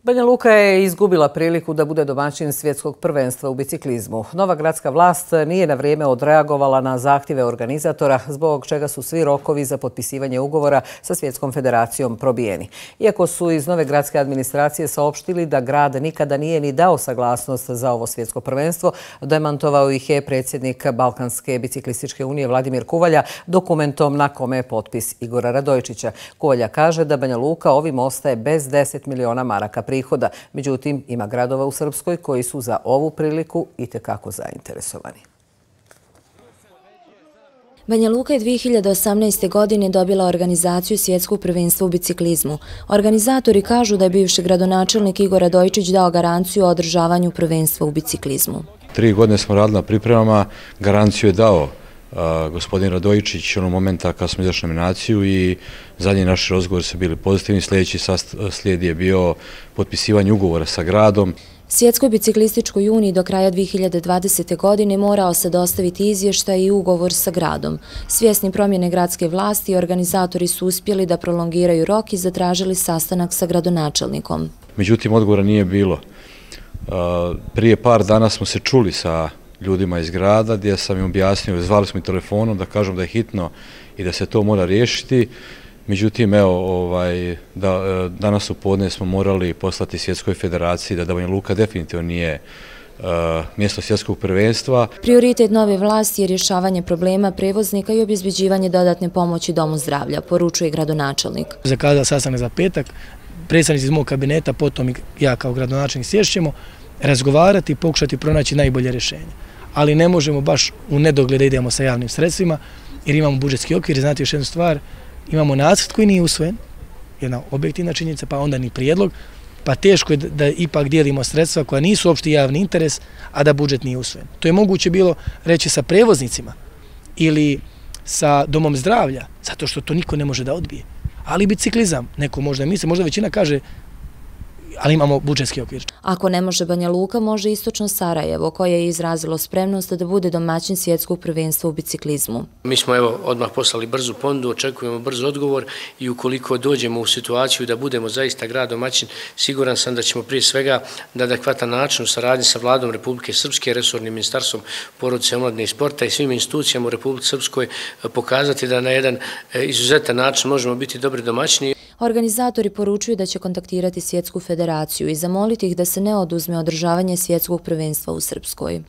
Banja Luka je izgubila priliku da bude domaćin svjetskog prvenstva u biciklizmu. Nova gradska vlast nije na vrijeme odreagovala na zahtjeve organizatora, zbog čega su svi rokovi za potpisivanje ugovora sa Svjetskom federacijom probijeni. Iako su iz nove gradske administracije saopštili da grad nikada nije ni dao saglasnost za ovo svjetsko prvenstvo, demantovao ih je predsjednik Balkanske biciklističke unije Vladimir Kuvalja dokumentom na kome je potpis Igora Radojičića. Kuvalja kaže da Banja Luka ovim ostaje bez 10 miliona maraka prihoda. Međutim, ima gradova u Srpskoj koji su za ovu priliku itekako zainteresovani. Banja Luka je 2018. godine dobila organizaciju svjetskog prvenstva u biciklizmu. Organizatori kažu da je bivši gradonačelnik Igor Radojičić dao garanciju o održavanju prvenstva u biciklizmu. 3 godine smo radili na pripremama, garanciju je dao gospodin Radojičić onog momenta kad smo izašli nominaciju i zadnji naši razgovori su bili pozitivni. Sljedeći slijed je bio potpisivanje ugovora sa gradom. Svjetskoj biciklističkoj uniji do kraja 2020. godine morao se dostaviti izvještaj i ugovor sa gradom. Svjesni promjene gradske vlasti, organizatori su uspjeli da prolongiraju rok i zatražili sastanak sa gradonačelnikom. Međutim, odgovora nije bilo. Prije par dana smo se čuli sa ljudima iz grada gdje sam im objasnio, zvali smo i telefonom da kažem da je hitno i da se to mora riješiti. Međutim, danas u podne smo morali poslati Svjetskoj federaciji da Banja Luka definitivno nije mjesto svjetskog prvenstva. Prioritet nove vlasti je rješavanje problema prevoznika i obezbeđivanje dodatne pomoći Domu zdravlja, poručuje gradonačelnik. Zakazao sastanak za petak, predstavnici iz mog kabineta, potom i ja kao gradonačelnik sješćemo, razgovarati i pokušati pronaći najbolje rješenje. Ali ne možemo baš u nedogled da idemo sa javnim sredstvima jer imamo budžetski okvir. Znate još jednu stvar, imamo nacrt koji nije usvojen, jedna objektivna činjenica, pa onda ni prijedlog, pa teško je da ipak dijelimo sredstva koja nisu opšti javni interes, a da budžet nije usvojen. To je moguće bilo reći sa prevoznicima ili sa domom zdravlja, zato što to niko ne može da odbije. Ali biciklizam, neko možda misli, možda većina kaže, ali imamo budžetski okvir. Ako ne može Banja Luka, može istočno Sarajevo, koje je izrazilo spremnost da bude domaćin svjetskog prvenstva u biciklizmu. Mi smo odmah poslali brzu ponudu, očekujemo brz odgovor i ukoliko dođemo u situaciju da budemo zaista grad domaćin, siguran sam da ćemo prije svega na adekvatan način u saradnji sa Vladom Republike Srpske, resornim ministarstvom porodice, omladine i sporta i svim institucijama u Republici Srpskoj pokazati da na jedan izuzetan način možemo biti dobri domaćini. Organizatori poručuju da će kontaktirati Svjetsku federaciju i zamoliti ih da se ne oduzme održavanje svjetskog prvenstva u Srpskoj.